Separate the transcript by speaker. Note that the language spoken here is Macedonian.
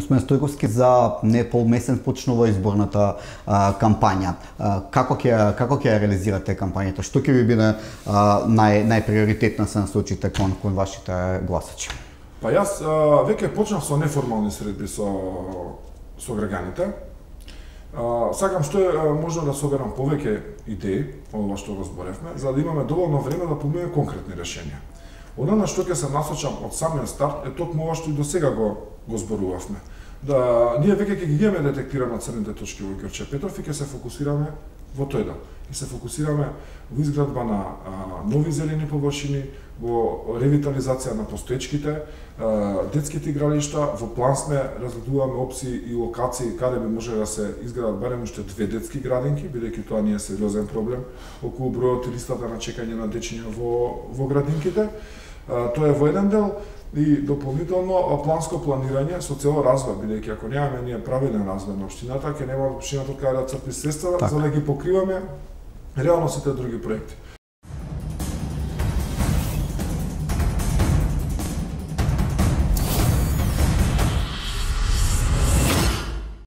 Speaker 1: Господин Стојковски, за не полмесец почнува изборната кампања. Како ќе ја реализирате кампањата? Што ќе ви биде најприоритетна се насочите кон вашите гласачи?
Speaker 2: Па јас веќе почнав со неформални средби со граѓаните. Сакам што е можно да соберам повеќе идеи од ова што го зборевме, за да имаме доволно време да поминеме конкретни решенија. Она на што ќе се насочам од самиот старт е токму ова што и досега го зборувавме. Да ние веќе ќе ги имаме детектирано црните точки во Ѓорче Петров и ќе се фокусираме во тој дел. И се фокусираме во изградба на нови зелени површини, во ревитализација на постоечките, детските игралишта. Во план сме разгледуваме опции и локации каде би можеле да се изградат барем уште 2 детски градинки, бидејќи тоа не е сериозен проблем околу бројот и листата на чекање на дечиња во градинките. Тоа е во еден дел. И дополнително планско планирање со цел развој, бидејќи ако немаме ние правилен развој на општината, ќе нема општината каде да црпи средства за да ги покриваме реално сите други проекти.